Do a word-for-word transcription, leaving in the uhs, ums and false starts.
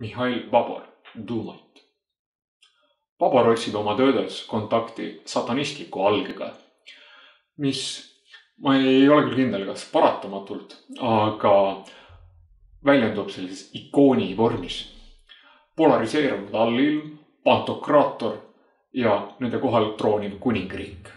Mihhail Babor, Duumait. Babor otsib oma töödes kontakti satanistliku algega, mis ma ei ole küll kindel, kas paratamatult, aga väljendub sellises ikooni vormis. Polariseerunud allilm, pantokraator ja nende kohal trooniv kuningriik.